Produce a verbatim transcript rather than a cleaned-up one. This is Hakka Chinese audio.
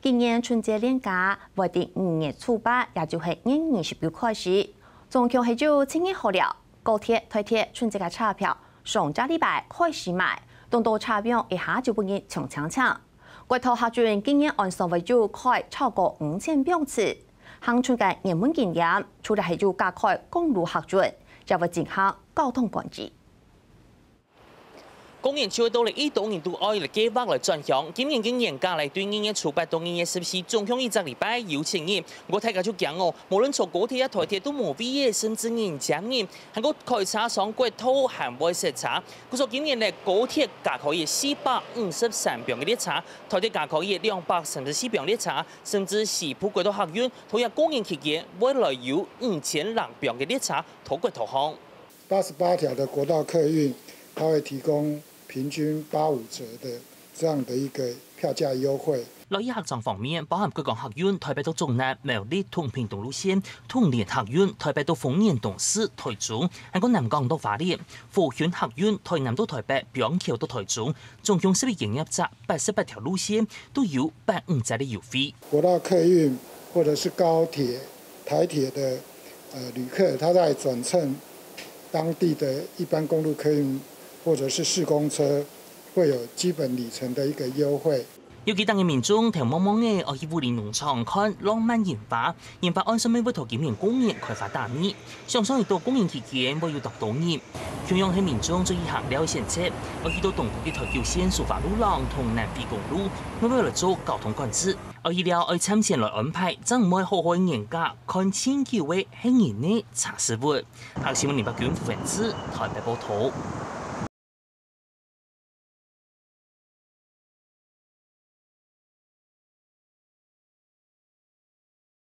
今年春節連假會在五月初八，也就係年二十九開始。總共係有七日好尞，高鐵、台鐵春節个車票上隻禮拜開始賣，當多車票一下就分人搶搶搶。國泰客運今年按算會有開超過五千班次，行春个熱門景點，除了係有加開公路客運，也會進行交通管制。 過年就會到了，一多人都愛來計畫來轉鄉。今年个年假來對二月初八到二月十四，總共一隻禮拜有七日。毋過大家就驚哦，無論坐高鐵啊、台鐵都無位仔，甚至人擠人，還過開車上國道還會塞車。故所今年呢，高鐵加開四百五十三班个列車，台鐵加開兩百三十四班列車，甚至西部國道客運，在這過年期間會來有五千零班个列車在國道項。 八十八條的國道客運，它會提供平均八五折的這樣的一個票價優惠。落去客庄方面，包含貴港客運台北到竹南、苗栗同屏東路線，統聯客運台北到豐原、東勢、台中，還過南港到花蓮，和興客運台南到台北、板橋到台中，總共十一間營業者，八十八條路線都有八五折个優惠。國道客運或者是高鐵、台鐵的呃旅客，他在轉乘當地的一般公路客運或者是市公車，會有基本里程的一個優惠。尤其當地民眾頭毛毛个愛去武陵農場看浪漫櫻花，櫻花按算乜會在今年過年開花打蜜，想像得到過年期間會有當多人。同樣係民眾最愛行尞个選擇，愛去到東部个台九線蘇花路項同南迴公路，乜會來做交通管制。愛去尞愛提前來安排，正毋會好好个年假，看盡久个係人仔車駛物。客新聞林伯君、傅文志，台北報導。